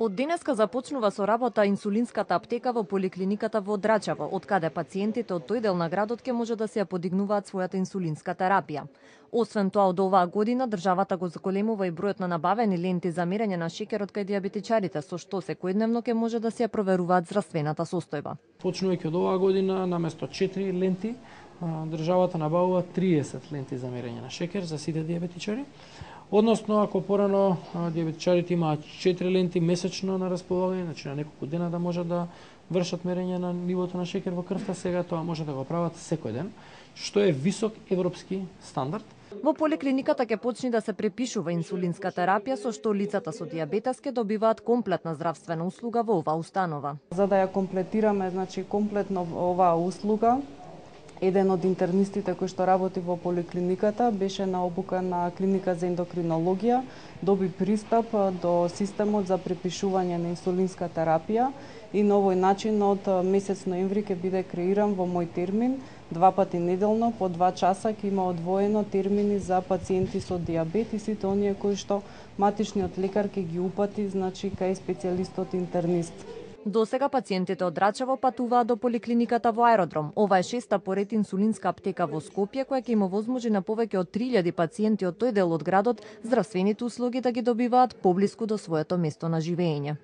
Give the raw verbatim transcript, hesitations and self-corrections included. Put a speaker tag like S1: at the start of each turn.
S1: Од денеска започнува со работа инсулинската аптека во поликлиниката во Драчево, од каде пациентите од тој дел на градот ќе може да се ја подигнуваат својата инсулинска терапија. Освен тоа, од оваа година државата го зголемува и бројот на набавени ленти за мерење на шеќерот кај дијабетичарите, со што секојдневно ќе може да се ја проверуваат здравствената состојба.
S2: Почнувајќи од оваа година, наместо четири ленти, државата набавува триесет ленти за мерење на шеќер за сите дијабетичари. Односно, ако порано дијабетичарите имаат четири ленти месечно на располагање, значи на неколку дена да можат да вршат мерење на нивото на шеќер во крвта, сега тоа може да го прават секој ден, што е висок европски стандард.
S1: Во поликлиниката ќе почне да се препишува инсулинска терапија, со што лицата со дијабетес ќе добиваат комплетна здравствена услуга во оваа установа.
S3: За да ја комплетираме, значи комплетно оваа услуга, еден од интернистите кој што работи во поликлиниката беше на обука на клиника за ендокринологија, доби пристап до системот за препишување на инсулинска терапија и на овој начин од месец ноември ќе биде креиран во мој термин, два пати неделно по два часа ќе има одвоено термини за пациенти со дијабет и сите оние кои што матичниот лекар ќе ги упати, значи кај специјалистот интернист.
S1: До сега пациентите од Драчево патуваат до поликлиниката во Аеродром. Ова е шеста поред инсулинска аптека во Скопје, која ќе им овозможи на повеќе од три илјади пациенти од тој дел од градот здравствените услуги да ги добиваат поблиску до своето место на живење.